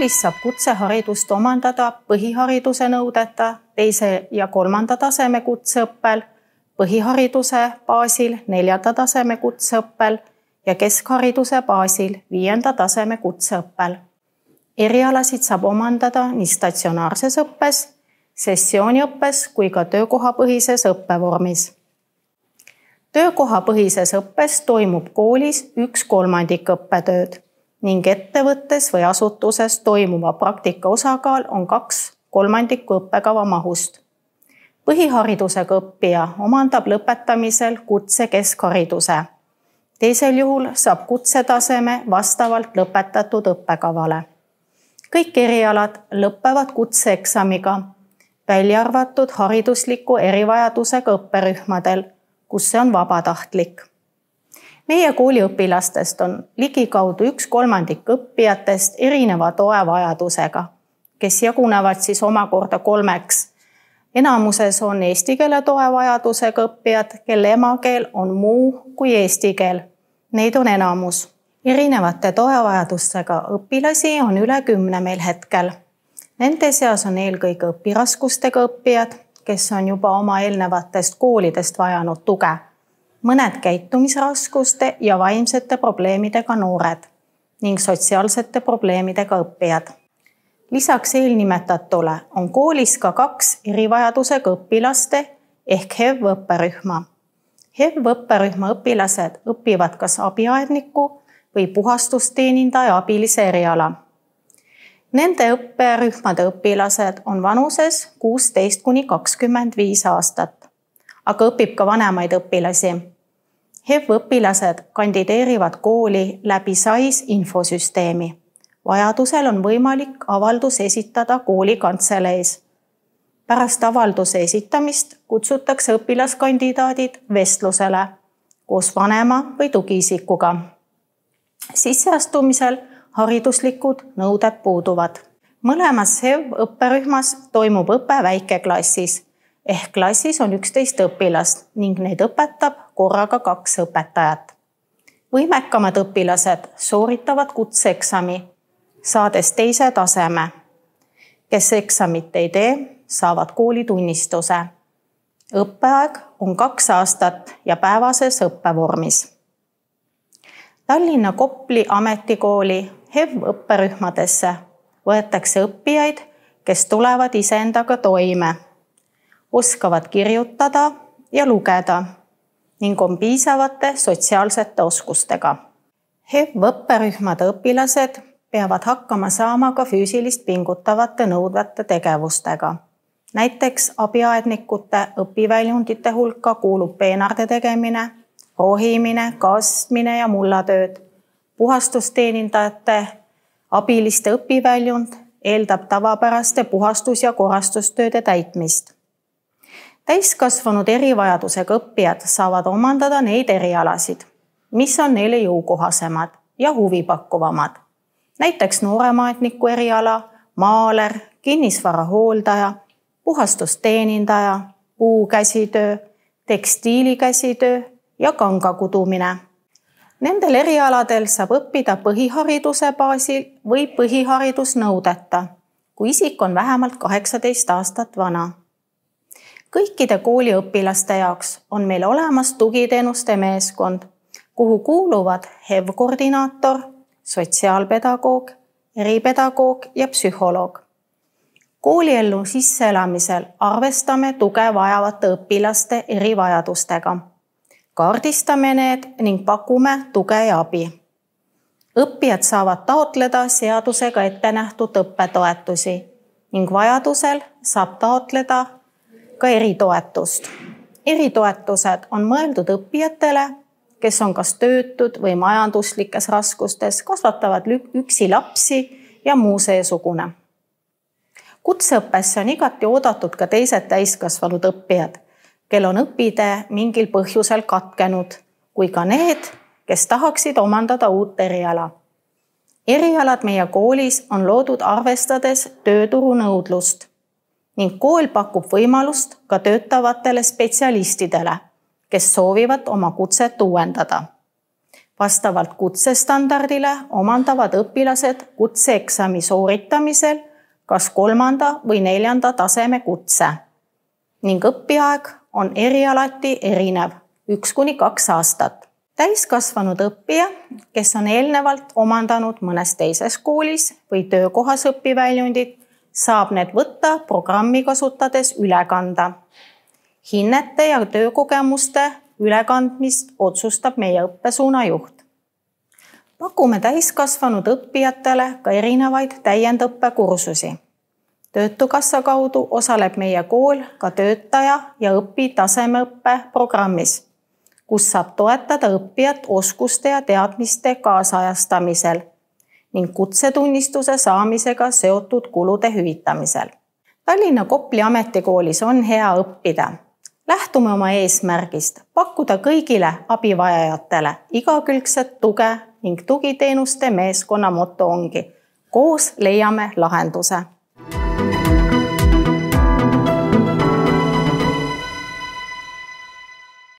Koolis saab kutseharidust omandada põhihariduse nõudeta 2. ja 3. taseme kutseõppel, põhihariduse baasil 4. taseme kutseõppel ja keskhariduse baasil 5. taseme kutseõppel. Erialasid saab omandada nii statsionaarses õppes, sessiooniõppes kui ka töökohapõhises õppevormis. Töökohapõhises õppes toimub koolis 1/3 õppetööd ning ettevõttes või asutuses toimuva praktika osakaal on 2/3 õppekava mahust. Põhiharidusega õppija omandab lõpetamisel kutse keskhariduse. Teisel juhul saab kutsetaseme vastavalt lõpetatud õppekavale. Kõik erialad lõppevad kutseeksamiga, välja arvatud haridusliku erivajadusega õpperühmadel, kus see on vabatahtlik. Meie kooli õpilastest on ligikaudu 1/3 õppijatest erineva toevajadusega, kes jagunevad siis omakorda 3. Enamuses on eesti keele toevajadusega õppijad, kelle emakeel on muu kui eesti keel. Neid on enamus. Erinevate toevajadustega õpilasi on üle 10 meil hetkel. Nende seas on eelkõige õpiraskustega õppijad, kes on juba oma eelnevatest koolidest vajanud tuge. Mõned käitumisraskuste ja vaimsete probleemidega noored ning sotsiaalsete probleemidega õppijad. Lisaks eelnimetatule on koolis ka 2 erivajadusega õpilaste ehk HEV-õpperühma. HEV-õpperühma õpilased õpivad kas abiaedniku või puhastusteenindaja abilise eriala. Nende õpperühmade õpilased on vanuses 16–25 aastat, aga õpib ka vanemaid õpilasi. HEV-õpilased kandideerivad kooli läbi SAIS infosüsteemi. Vajadusel on võimalik avaldus esitada kooli kantseleis. Pärast avalduse esitamist kutsutakse õpilaskandidaadid vestlusele koos vanema või tugiisikuga. Sisseastumisel hariduslikud nõuded puuduvad. Mõlemas HEV-õpperühmas toimub õpe väikeklassis ehk klassis on 11 õpilast ning neid õpetab korraga 2 õpetajat. Võimekamad õpilased sooritavad kutseeksami, saades 2. taseme. Kes eksamit ei tee, saavad koolitunnistuse. Õppeaeg on 2 aastat ja päevases õppevormis. Tallinna Kopli ametikooli HEV-õpperühmadesse võetakse õppijaid, kes tulevad iseendaga toime, oskavad kirjutada ja lugeda ning on piisavate sotsiaalsete oskustega. HEV-õpperühmade õpilased peavad hakkama saama ka füüsilist pingutavate nõudvate tegevustega. Näiteks abiaednikute õpiväljundite hulka kuulub peenarde tegemine, rohimine, kastmine ja mullatööd. Puhastusteenindajate abiliste õpiväljund eeldab tavapäraste puhastus- ja korrastustööde täitmist. Täiskasvanud erivajadusega õppijad saavad omandada neid erialasid, mis on neile jõukohasemad ja huvipakkuvamad. Näiteks nooremaetniku eriala, maaler, kinnisvara hooldaja, puhastusteenindaja, puukäsitöö, tekstiilikäsitöö ja kangakudumine. Nendel erialadel saab õppida põhihariduse baasil või põhiharidusnõudeta, kui isik on vähemalt 18 aastat vana. Kõikide kooliõpilaste jaoks on meil olemas tugiteenuste meeskond, kuhu kuuluvad HEV-koordinaator, sotsiaalpedagoog, eripedagoog ja psühholoog. Kooliellu sisseelamisel arvestame tuge vajavate õpilaste erivajadustega. Kaardistame need ning pakume tuge ja abi. Õppijad saavad taotleda seadusega ette nähtud õppetoetusi ning vajadusel saab taotleda ka eritoetust. Eritoetused on mõeldud õppijatele, kes on kas töötud või majanduslikes raskustes, kasvatavad üksi lapsi ja muu seesugune. Kutseõppesse on igati oodatud ka teised täiskasvanud õppijad, kel on õpitee mingil põhjusel katkenud, kui ka need, kes tahaksid omandada uut eriala. Erialad meie koolis on loodud arvestades tööturu nõudlust ning kool pakub võimalust ka töötavatele spetsialistidele, kes soovivad oma kutset uuendada. Vastavalt kutsestandardile omandavad õpilased kutseeksami sooritamisel kas 3. või 4. taseme kutse ning õpiaeg on erialati erinev 1–2 aastat. Täiskasvanud õppija, kes on eelnevalt omandanud mõnes teises koolis või töökohas õpiväljundit, saab need võtta programmi kasutades üle kanda. Hinnete ja töökogemuste ülekandmist otsustab meie õppesuuna juht. Pakume täiskasvanud õppijatele ka erinevaid täiendõppekursusi. Töötukassa kaudu osaleb meie kool ka töötaja ja õpitasemeõppe programmis, kus saab toetada õppijat oskuste ja teadmiste kaasajastamisel ning kutsetunnistuse saamisega seotud kulude hüvitamisel. Tallinna Kopli ametikoolis on hea õppida. Lähtume oma eesmärgist pakkuda kõigile abivajajatele igakülgset tuge ning tugiteenuste meeskonna moto ongi: koos leiame lahenduse.